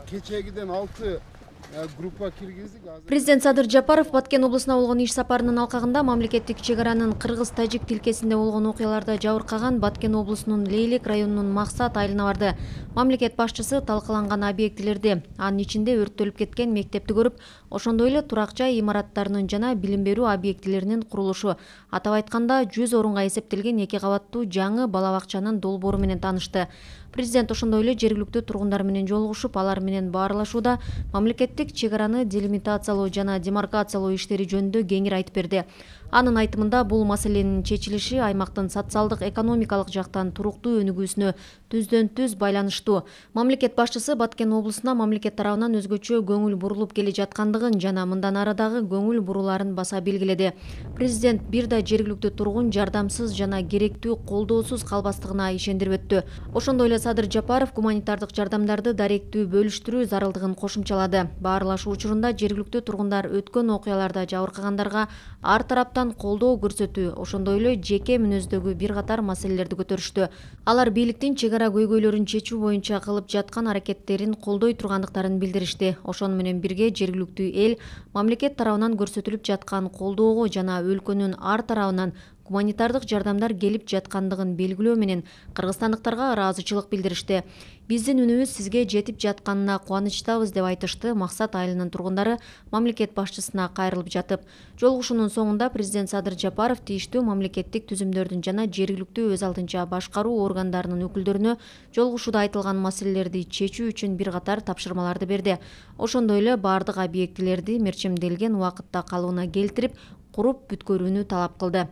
Кечегиден 6 группа киргиздик. Президент Садыр Жапаров Баткен облусуна болгон иш сапарынын алкагында мамлекеттик чек аранын кыргыз-тажик тилкесинде болгон окуяларда жабыркаган Баткен облусунун Лейлек районунун Максат айылына барды. Мамлекет башчысы талкаланган объектилерди, анын ичинде өрттөлүп кеткен мектепти көрүп, ошондой эле турак жай имараттарынын жана билим берүү объектилеринин курулушу, атап айтканда 100 орунга эсептелген 2 кабаттуу жаңы бала бакчанын долбоору менен таанышты. Президент ошондой эле жергиликтүү тургундар менен жолугушуп, алар менен баарлашууда мамлекеттик чек араны делимитациялоо жана демаркациялоо иштери жөнүндө кеңири айтып берди. Анын айтымында бул маселенин чечилиши аймактын социалдык экономикалык жактан туруктуу өнүгүүсүнө түздөн-түз байланыштуу. Мамлекет башчысы Баткен облусуна мамлекет тарабынан өзгөчө көңүл бурулуп келе жаткандыгын жана мындан ары дагы көңүл буруларын баса белгиледи. Президент бир да жергиликтүү тургун жардамсыз жана керектүү колдоосуз калбастыгына ишендирип өттү. Ошондой эле Садыр Жапаров гуманитардык жардамдарды даректүү бөлүштүрүү зарылдыгын кошумчалады. Баарлашуу учурунда жергиликтүү тургундар өткөн окуяларда жабыркагандарга ар тараптан колдоо көрсөтүү, ошондой эле жеке мүнөздөгү бир катар маселелерди көтөрүштү. Алар бийликтин чек ара көйгөйлөрүн чечүү боюнча кылып жаткан аракеттерин колдой тургандыктарын билдиришти. Ошону менен бирге жергиликтүү эл мамлекет тарабынан көрсөтүлүп жаткан колдоого жана өлкөнүн ар тарабынан гуманитардык жардамдар келип жаткандыгын белгилөө менен кыргызстандыктарга ыраазычылык билдиришти. Биздин үнүбүз сизге жетип жатканына кубанычтабыз деп айтышты Максат айылынын тургундары мамлекет башчысына кайрылып жатып. Жолугушуунун соңунда президент Садыр Жапаров тийиштүү мамлекеттик түзүмдөрдүн жана жергиликтүү өз алдынча башкаруу органдарынын өкүлдөрүнө жолугушууда айтылган маселелерди чечүү үчүн бир катар тапшырмаларды берди. Ошондой эле бардык объектилерди мерчемделген убакытта калыбына келтирип, куруп бүткөрүүнү талап кылды.